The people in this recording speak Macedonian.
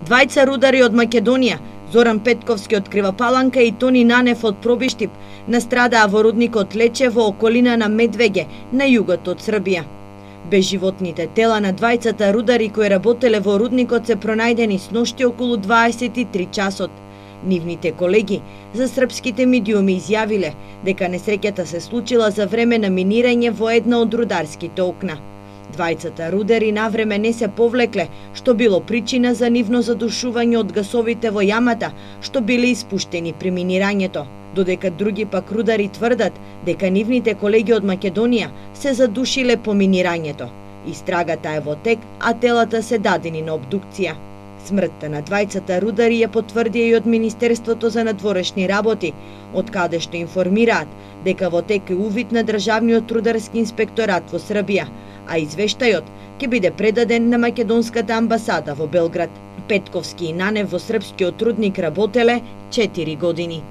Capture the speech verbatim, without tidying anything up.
Двајца рудари од Македонија, Зоран Петковски од Крива Паланка и Тони Нанев од Пробиштип, настрадаа во рудникот Лече во околина на Медвеге, на југот од Србија. Безживотните тела на двајцата рудари кои работеле во рудникот се пронајдени сношти околу дваесет и три часот. Нивните колеги за српските медиуми изјавиле дека несреќата се случила за време на минирање во една од рударските окна. Двајцата рудари навреме не се повлекле, што било причина за нивно задушување од гасовите во јамата, што биле испуштени при минирањето, додека други пак рудари тврдат дека нивните колеги од Македонија се задушиле по минирањето. Истрагата е во тек, а телата се дадени на обдукција. Смртта на двајцата рудари ја потврдија и од Министерството за надворешни работи, од каде што информираат дека во тек е увид на Државниот рударски инспекторат во Србија, а извештајот ќе биде предаден на македонската амбасада во Белград. Петковски и Нанев во српскиот рудник работеле четири години.